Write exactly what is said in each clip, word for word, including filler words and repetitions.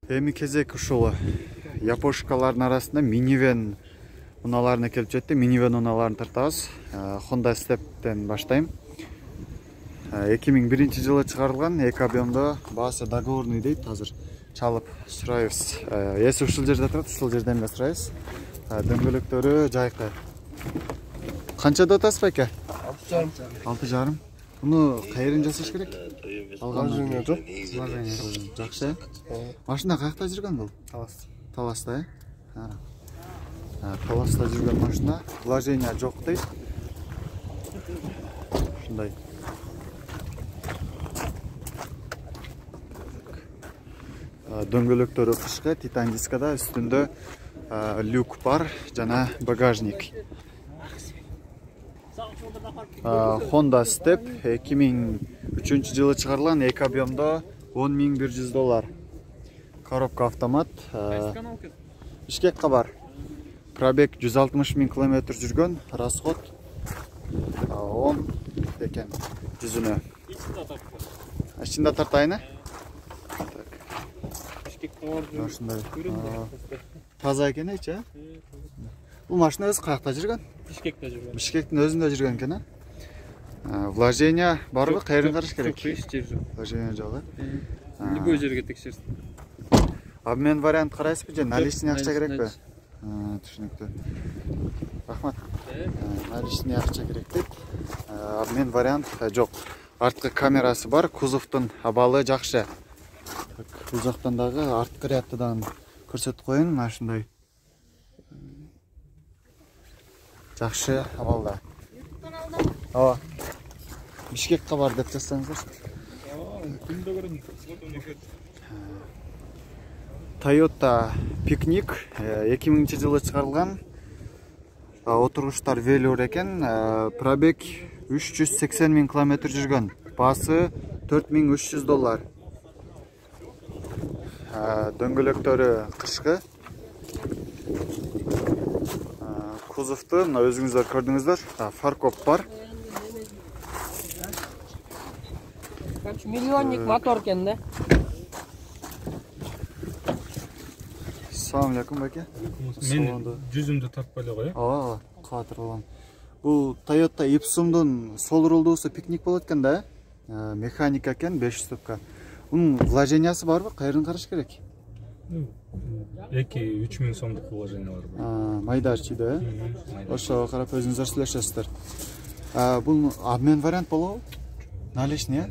Эми кезек ушул япошкалардын арасында минивэн унааларына келип жетти. Минивэн унааларын тартабыз. Honda Step'тен баштайм. эки миң биринчи жылы чыгарылган, эки объемдо, баасы договорный дейт. Азыр чалып сурайбыз. Эси ушул жерде турат, ушул жерден эле сурайбыз. Дөңгөлөктөрү жайкы. Канчада атасыз байке? алты жарым. алты жарым. Буну кайерин жасаш керек? Алган жок. Жакшы. Машина каякта жүргөн бул? Талас. Таласта, э? Таласта жүргөн машина. Вложение жок дейт. Ушундай. Дөңгөлөктөрү кышкы, титан дискада, үстүндө люк бар жана багажник. Honda Step эки миң үчүнчү жылы чыгарылган, эки объемдо, он миң бир жүз доллар. Коробка автомат. Бишкекке бар. Пробег жүз алтымыш миң километр жүргөн, расход он экен жүзүнө. Ичинде тартайыны? Ушундай. Таза экен эч, э? Бул машина өзү каякта жүргөн? Бишкекте жүргөн. Бишкектин өзүндө жүргөн экен, э? Вложение барбы? Кайерин караш керек? Жок, эч жер жок. Вложение жок, э? Любой жерге текшерсин. Обмен вариант карайсызбы же наличный акча керекпи? Түшүнүктүү. Рахмат. Наличный акча керек дейт. Обмен вариант жок. Арткы камерасы бар, кузовдун абалы жакшы. Бул жактан дагы арткы рядтан көрсөтүп коеюн, мына ушундай. Жакшы абалда. Ооба. Бишкекке бар деп жазсаңыздарчы. Күндө көрөм. Toyota Picnic эки миңинчи жылы чыгарылган. Отургучтар велюр экен. Пробег үч жүз сексен миң километр жүргөн. Баасы төрт миң үч жүз доллар. Дөңгөлөктөрү кышкы. Кузовду мына өзүңүздөр көрдүңүздөр. Фаркоп бар. Миллионник мотор экен да. Assalamu alaikum байке. Мен жүзүмдү тартпай эле коем. Ооба, катыр болгон. Бул Toyota Ipsumдун сол рулдуусу Picnic болот экен да, э? Механика экен, беш жүз ступка. Мунун вложениясы барбы? Кайерин караш керек? эки үч миң сомдук вложение бар. Майда чийди, э? Ошого карап өзүңүздөр сүйлөшөсүздөр. Бул обмен вариант болобу? Наличный, э?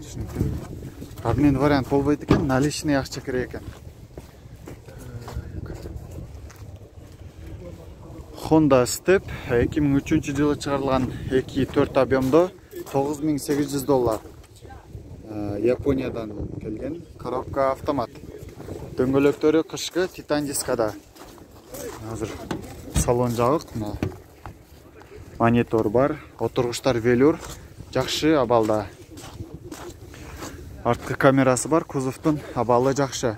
Түшүнүктүү. Обмен вариант болбойт экен, наличный акча керек экен. Honda Step эки миң үчүнчү жылы чыгарылган, эки төрт объемдо, тогуз миң сегиз жүз доллар. Япониядан келген, коробка автомат. Дөңгөлөктөрү кышкы, титан дискада. Азыр салон жабык, монитор бар, отургучтар велюр, жакшы абалда. Арткы камерасы бар, кузовдун абалы жакшы.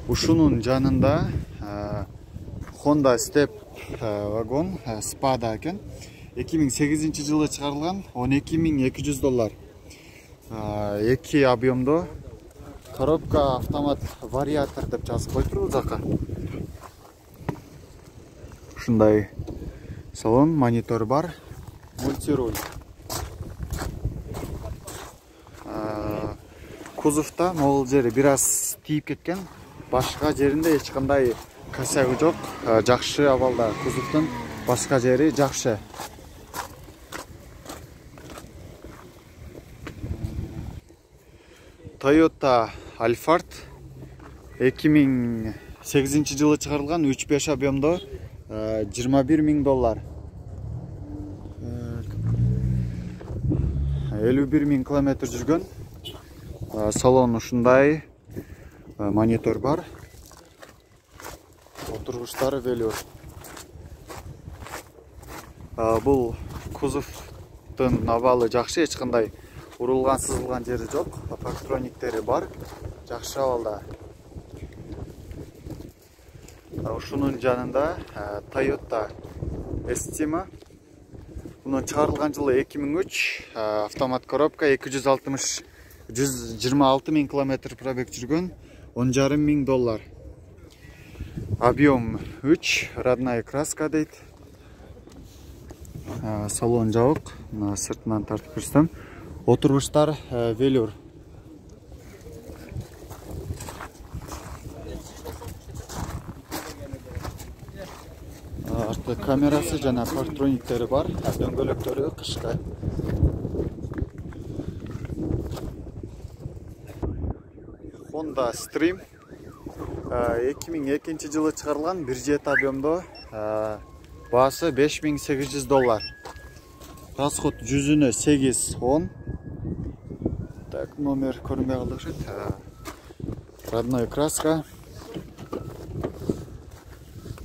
Ушунун жанында Honda Step вагон Spada экен. эки миң сегизинчи жылы чыгарылган, он эки миң эки жүз доллар. эки объемдо, коробка автомат вариатор деп жазып коюптур бул жака. Ушундай салон, монитор бар, мультируль. Кузовда могул жери бир аз тийип кеткен. Башка жеринде эч кандай косягы жок, жакшы абалда. Кузовдун башка жери жакшы. Toyota Alphard эки миң сегизинчи жылы чыгарылган, үч беш объемдо, жыйырма бир миң доллар. элүү бир миң километр жүргөн. Салон ушундай. Монитор бар. Отургучтары велюр. Бул кузовдун абалы жакшы, эч кандай урулган, сызылган жери жок. Парктрониктери бар. Жакшы абалда. ушунун жанында Toyota Estima. Bunun çıkarılgan жылы эки миң үч, автомат коробка, эки жүз алтымыш жүз жыйырма алты миң километр пробег жүргөн, он жарым миң доллар. Объем үч, родная краска дейт. Салон жабык, сыртынан тартып көрсөтөм. Отургучтар велюр. Артта камерасы жана партрониктери бар, дөңгөлөктөрү кышкы. Honda Stream эки миң экинчи жылы чыгарылган, бир жети объемдо, баасы беш миң сегиз жүз доллар. Расход жүзүнө сегиз он. Так, номер көрүнбөй калды окшойт. Родной краска.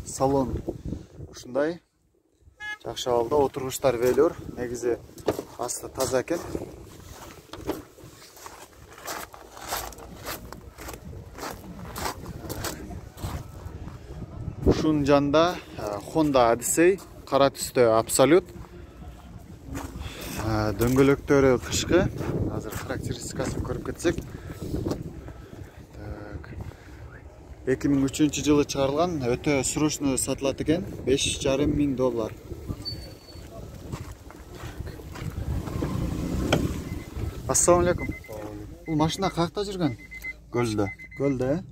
Салон ушундай. Жакшы абалда, отургучтар велюр, негизи асты таза экен. Ушунун жанында Honda Odyssey, кара түстө Absolute. Дөңгөлөктөрү кышкы. Азыр характеристикасын көрүп кетсек. эки миң үчүнчү жылы чыгарылган, өтө срочно сатылат экен, беш жарым миң доллар. Ассаламу алейкум. Бул машина каякта жүргөн? Көлдө. Көлдө, э?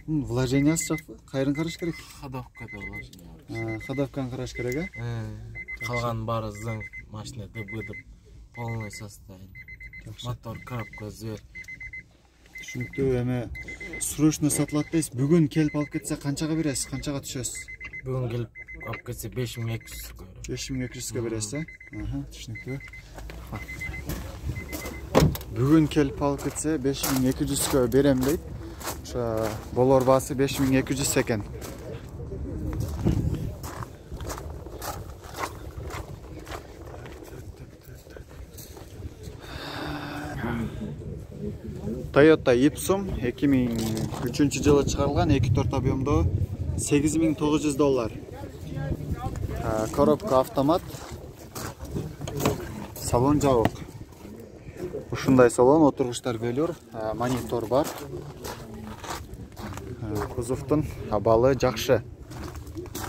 Вложениясы жокпу? Кайрын караш керек? Ходовкада вложение. Ходовканы караш керек, э? Калган баары зың, машина дыбыдып, полный состояние. Мотор, коробка, звет. Түшүнүктүү, эме срочно сатылат дейсиз. Бүгүн келип алып кетсе канчага бересиз? Канчага түшөсүз? Бүгүн келип алып кетсе беш миң эки жүзгө. беш миң эки жүзгө бересиз, э? Аха, түшүнүктүү. Бүгүн келип алып кетсе беш миң эки жүзгө берем дейт. Ошо болор баасы беш миң эки жүз экен. Toyota Ipsum эки миң үчүнчү жылы чыгарылган, эки төрт объемдо, сегиз миң тогуз жүз доллар. Коробка автомат. Салон жабык. Ушундай салон, отургучтар велюр, монитор бар. Кузовдун абалы жакшы.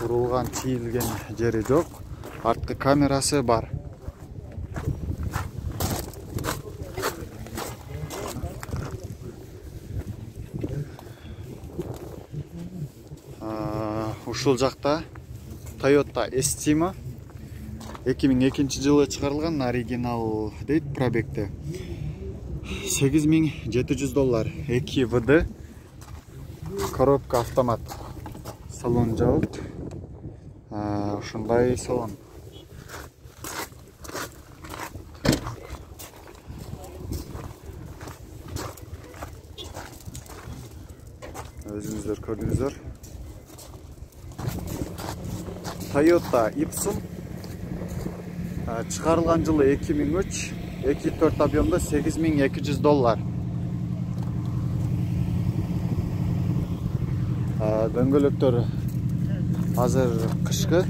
Урулган, чийилген жери жок. Арткы камерасы бар. Ушул жакта Toyota Estima эки миң экинчи жылы чыгарылган, оригинал дейт пробегте. сегиз миң жети жүз доллар. эки вэ дэ. Коробка автомат. Салон жабык. Ушундай салон. Өзүңүздөр көрдүңүздөр. Toyota Ipsum чыгарылган жылы эки миң үч, эки төрт объемдо, сегиз миң эки жүз доллар. Дөңгөлөктөр азыр кышкы.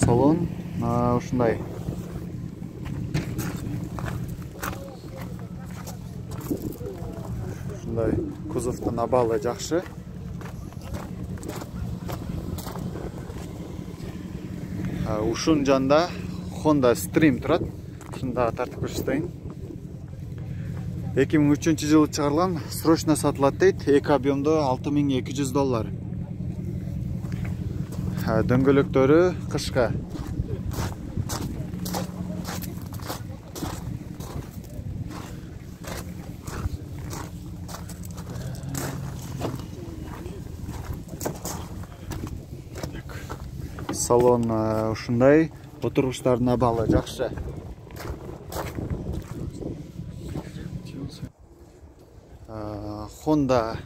Салон ушундай. Ушундай кузовдун абалы жакшы. Ушун жанында Honda Stream турат. Ушунда тартып көрсөтөйүн. эки миң үчүнчү жылы чыгарылган, срочно сатылат дейт, эки объемдо, алты миң эки жүз доллар. Дөңгөлөктөрү кышкы. Салон ушундай, отургучтардын абалы жакшы. Honda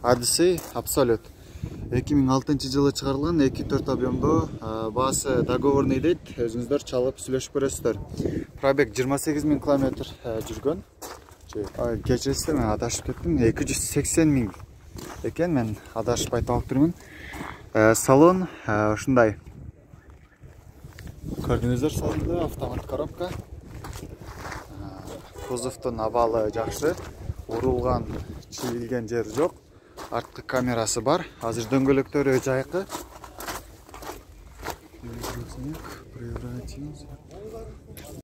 Odyssey Absolute эки миң алтынчы жылы чыгарылган, эки төрт объемдо, баасы договорный дейт, өзүңүздөр чалып сүйлөшүп көрөсүздөр. Пробег жыйырма сегиз миң километр жүргөн. Кечиресиздер, мен адашып кеттим. эки жүз сексен миң экен, мен адашып айтып алып турмун. Салон ушундай. Көрдүңүздөр, салонда автомат коробка. Кузовдун абалы жакшы. Урулган, чийилген жери жок. Арткы камерасы бар. Азыр дөңгөлөктөрү жайкы.